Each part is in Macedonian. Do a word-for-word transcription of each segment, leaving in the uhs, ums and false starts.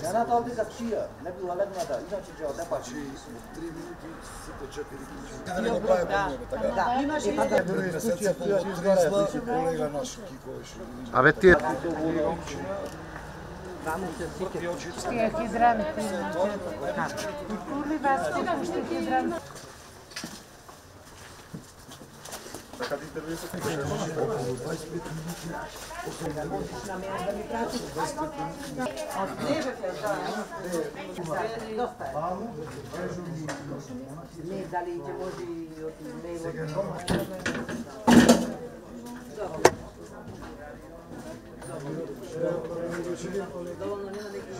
Жената облика чија, не била легната, иначе ќе одепачи. три минути сите четири кучи. Да не прави проблеми, така. Да, имаше и така пред месеци полу тризла, колега наш Кико беше. Абе тие Ще ги здравите. Кули вас, ще ги здравите. Така да интервјуирате околу дваесет и пет минути. Од девет е, да. Не, дали ќе може и од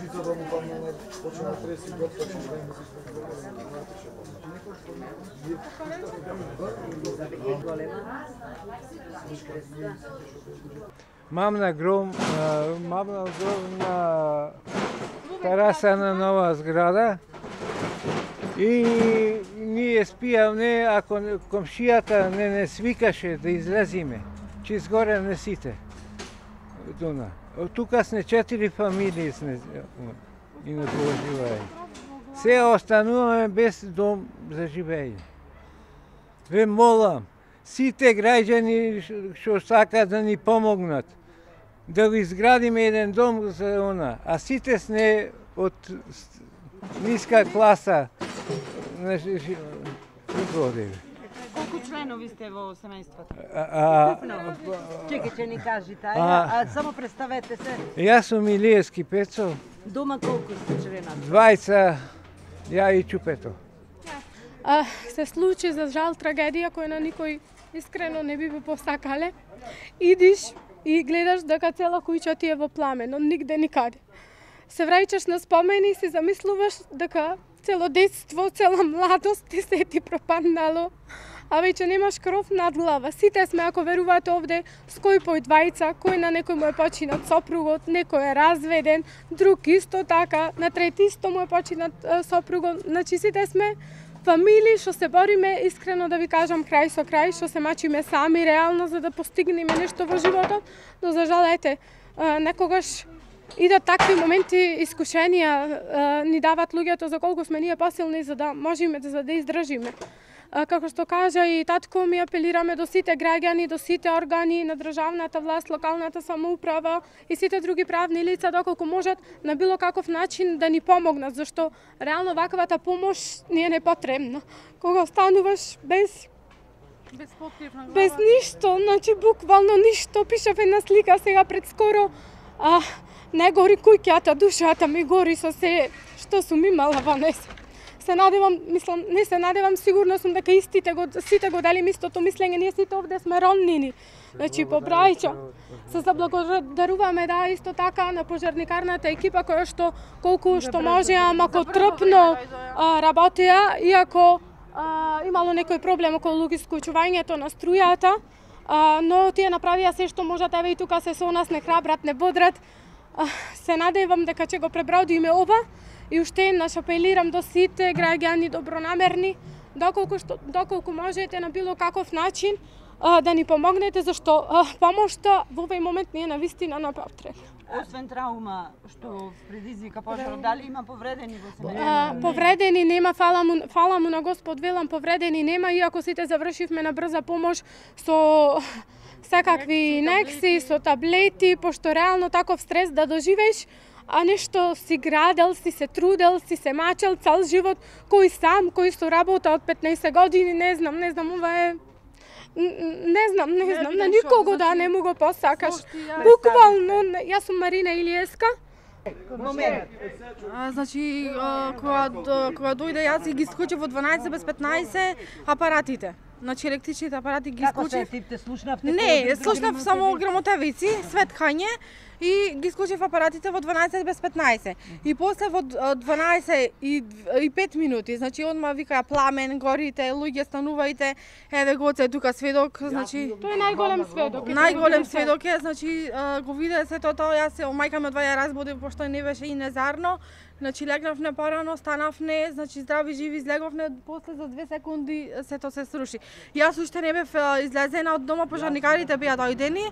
Жито да му помогнат, почнат треси готва, че да им Мам на гром, мам на гром на тераса на нова зграда и ние спијавме, ако комшијата не не свикаше да излезиме, че изгоре не сите. Дуна. Тука сме четири фамилии сме и не живееме. Се остануваме без дом за живење. Ве молам, сите граѓани што сакаат да ни помогнат, да го изградиме еден дом за она, а сите сме од ниска класа на живење. Колку членови сте во семејството? Чекај, че ни кажите, а само представете се. Јас сум Илиевски Пецо. Дома колку сте члена? Двајца, ја и Чупето. А, се случи за жал трагедија која на никој искрено не би би посакале. Идиш и гледаш дека цела куќа ти е во пламе, но нигде никаде. Се враќаш на спомени и си замислуваш дека цело детство, цела младост ти се ти пропаднало, а веќе немаш кров над глава. Сите сме, ако верувате овде, с кој пој двајца, кој на некој му е починат сопругот, некој е разведен, друг исто така, на трети исто му е починат сопругот. Значи сите сме фамилии што се бориме, искрено да ви кажам, крај со крај, што се мачиме сами реално за да постигнеме нешто во животот, но за жал, ете, некогаш идат такви моменти, искушенија ни дават луѓето за колку сме ние посилни за да можеме за да издржиме. Како што кажа и татко ми, апелираме до сите граѓани, до сите органи на државната власт, локалната самоуправа и сите други правни лица доколку можат на било каков начин да ни помогнат, зашто реално ваквата помош ни е непотребна. Кога остануваш без Без покривна глава. без ништо, значи буквално ништо, пишав една слика сега пред скоро, а не гори куќата, душата ми гори со се што сум имала во неа. Се надевам, мислам, не се надевам, сигурно сум дека истите го, сите го делим истото мислење, ние сите овде сме ромнини. Значи по брајча. Се заблагодаруваме да исто така на пожарникарната екипа која што колку што може, ама ко трпно работеа, иако а, имало некој проблем околу исклучувањето на струјата, а, но тие направија се што можат, еве и тука се со нас, не храбрат, не бодрат. А, се надевам дека ќе го пребродиме ова. И уште еднаш апелирам до сите граѓани добронамерни, доколку што доколку можете на било каков начин а, да ни помогнете, зашто а, помошта во овој момент не е навистина на потребна. Освен траума што предизвика пожарот, дали има повредени во семејството? А, повредени нема, фала му, фала му на Господ, велам, повредени нема, иако сите завршивме на брза помош со секакви инекции, со таблети, пошто реално таков стрес да доживееш, а нешто си градел, си се трудел, си се мачел цел живот, кој сам, кој со работа од петнаесет години, не знам, не знам, ова е... Не знам, не знам, на никого да не му го посакаш. Буквално, јас сум Марина Илиевска. Момент. А, значи, а, кога, кога дојде јас и ги исклучив во дванаесет без петнаесет апаратите. Значи електричните апарати ги исклучив. Како се типте, слушнавте? Не, слушнав само грамотевици, светкање и ги исклучив апаратите во дванаесет без петнаесет. И после во дванаесет и пет минути, значи одма викаја пламен, горите, луѓе станувајте, еве Гоце тука сведок, значи Тој е најголем сведок. најголем сведок е, значи го виде сето тоа, јас се мајка ми од ја разбуди пошто не беше и незарно. Значи легнавме порано, станавме, значи здрави живи излеговме, после за две секунди сето се сруши. Јас уште не бев излезена од дома, пожарникарите беа дојдени.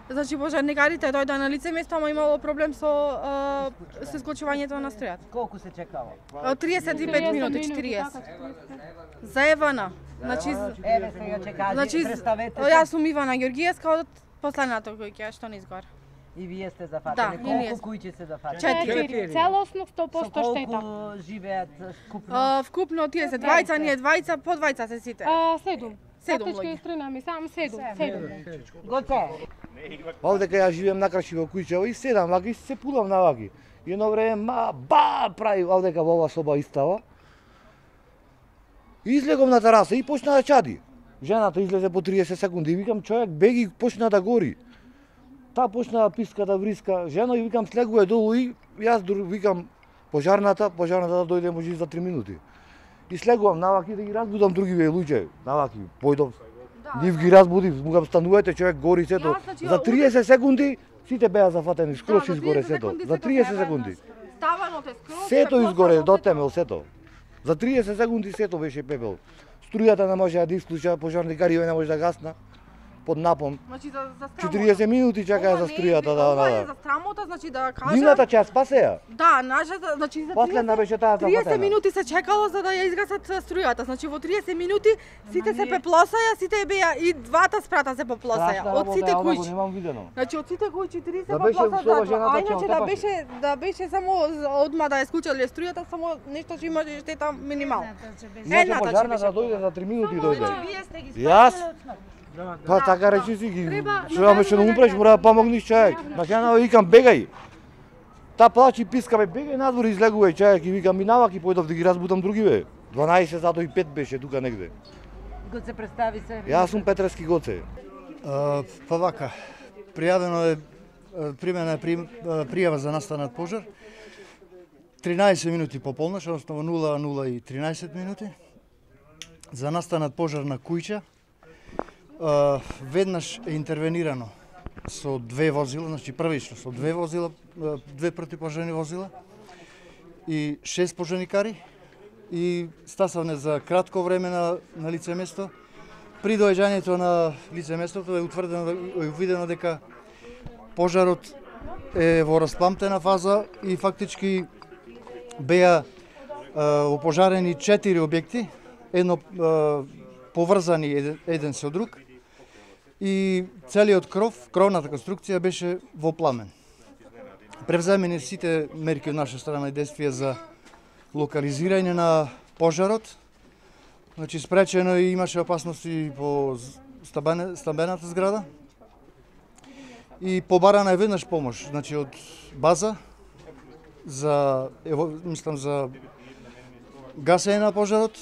значи пожарникарите дојдоа на лице место, ама имало проблем со а, со исклучувањето на струјата. Колку се чекало? Од триесет и пет минути, четириесет. За Евана. Значи, Еве сега ќе кажи, значи представете јас се. сум Ивана Ѓоргиевска од последната која што не изгора. И вие сте Да, зафатени. и ние Колку куќи се зафатени? Четири. Целосно сто Со проценти штета. колку живеат скупно? А, вкупно тие се двајца, ние двајца, по двајца се сите. А, седум. Седум Фактички луѓе. истрина сам седум, седум. Гоце, Овде кај јас живеам на кршиво куќево и седам ваки и се пулам на ваки. И едно време ма ба прави овде кај во ова соба истава. И излегов на тераса и почна да чади. Жената излезе по триесет секунди и викам човек беги почна да гори. Та почна да писка да вриска, жена и викам слегува долу и јас дур, викам пожарната, пожарната да дојде може за три минути. И слегувам наваки да ги разбудам другиве луѓе, наваки појдов. Нив ги разбудив, му го станувате човек гори сето. Јас, значи, За триесет секунди сите беа зафатени, скроз Да, за изгоре триесет сето. секунди За сето триесет се секунди. Ставано те скроз. Сето се изгоре потоа, до темел сето. За триесет секунди сето беше пепел. Струјата не може да исклуча, пожарникари не може да гасна под напон. Значи за за страмота. четириесет минути чакаа Ова за не е- струјата да Ова е да. за страмота, значи да кажам. Дивната час спасеа. Да, нашата, значи за Последна беше таа триесет зафатена. минути се чекало за да ја изгасат струјата. Значи во триесет минути сите се пеплосаја, сите беа и двата спрата се поплосаја. Од сите куќи. Немам видено. Значи од сите куќи три се Да беше поплосаја, слова да, жената а ќе иначе да отепаше. беше да беше само одма да ја исклучале струјата, само нешто што имаше штета минимално. Иначе Едната ќе пожарната беше. дојде за три минути дојде. вие сте ги Јас? спасиле од смрт. Па така речи си ги. Треба- Што ме што не умреш, мора да помогнеш човек. На жена викам бегај. Та плачи и писка бе, бегај надвор излегувај човек и викам минавак и појдов да ги разбудам другиве. дванаесет задо и пет беше тука негде. Гоце представи се. Јас сум Петрески Гоце. А, Па вака, пријавено е, а, примена е при- а, пријава за настанат пожар. тринаесет минути по полнош, односно во нула нула и тринаесет минути. За настанат пожар на куќа. А, Веднаш е интервенирано со две возила, значи првично со две возила, а, две противпожарни возила и шест пожарникари и стасавне за кратко време на, на лице место. При доаѓањето на лице местото е утврдено, е видено дека пожарот е во распламтена фаза и фактички беа а, опожарени четири објекти, едно а, поврзани еден, еден со друг и целиот кров, кровната конструкција беше во пламен. Превземени сите мерки од наша страна и действија за локализирање на пожарот. Значи спречено и имаше опасности по стабене, стабената зграда. И побарана е веднаш помош, значи од база за ево, мислам за гасење на пожарот.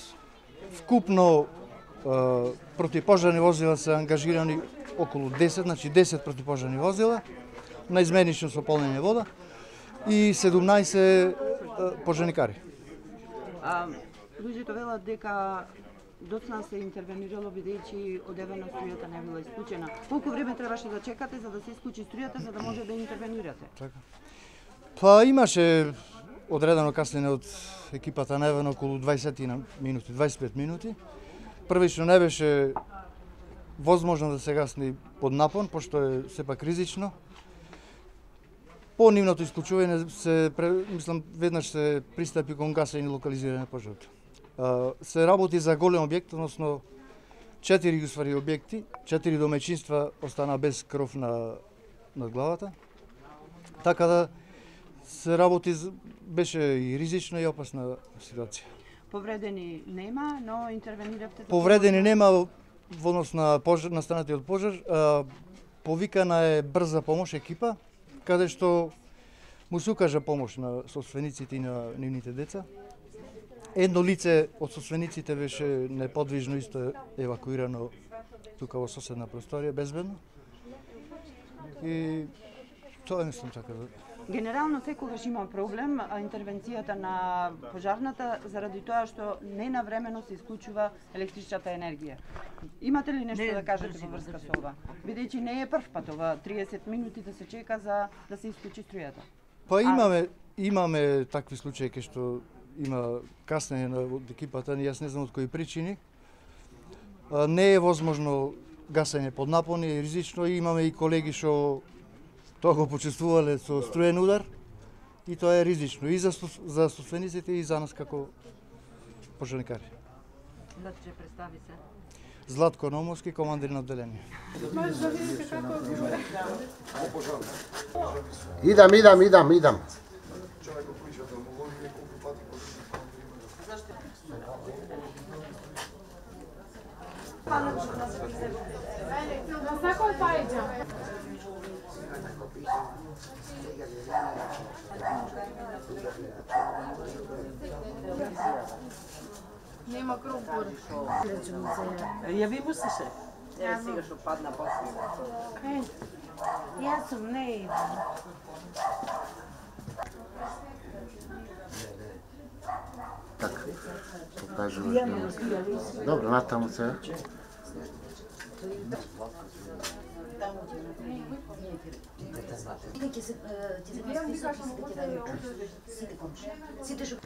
Вкупно е, противпожарни возила се ангажирани околу десет, значи десет противпожарни возила на изменично со полнење вода и седумнаесет е, пожарникари. А, луѓето велат дека доцна се интервенирало бидејќи одевено струјата не била исклучена. Колку време требаше да чекате за да се исклучи струјата за да може да интервенирате? Така. Па имаше одредено каснење од екипата на Евен околу дваесет минути, дваесет и пет минути. Првично не беше возможно да се гасни под напон, пошто е сепак ризично. По нивното исклучување се, мислам, веднаш се пристапи кон гасење и локализирање на пожарот. Се работи за голем објект, односно четири уствари објекти, четири домаќинства остана без кров на над главата. Така да се работи, беше и ризична и опасна ситуација. Повредени нема, но интервениравте. Повредени нема во однос на пожар, настанатиот пожар. А, повикана е брза помош екипа, каде што му се укажа помош на собствениците и на нивните деца. Едно лице од собствениците беше неподвижно исто евакуирано тука во соседна просторија безбедно. И тоа мислам така да. Генерално секогаш има проблем а, интервенцијата на пожарната заради тоа што не навремено се исклучува електричната енергија. Имате ли нешто Не, да кажете брзи, во врска брзи. со ова? Бидејќи не е прв пат ова триесет минути да се чека за да се исклучи струјата. Па имаме имаме такви случаи кај што има каснење на од екипата, јас не знам од кои причини. А, не е возможно гасење под напон е ризично и имаме и колеги што тоа го почувствувале со струен удар и тоа е ризично и за за собствениците и за нас како пожарникари. Значи представи се. Златко Номовски, командир на одделение. Може да видите како одговора. Идам, идам, идам, идам. На секој пајџа. Нема круmpur. Јави му се се. Еве сега што падна после. Јас сум не идам. Така, покажуваш да... Добро, натаму се. Ќе се ќе се список и се ќе даде сите комши. Сите што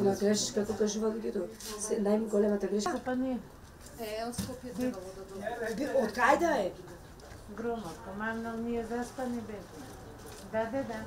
На грешка, како кажува луѓето, се најголемата грешка. па не. Е, од Скопје требало да дојде. Од кај да е? Громот, командал ние заспани беме. Да, да, да.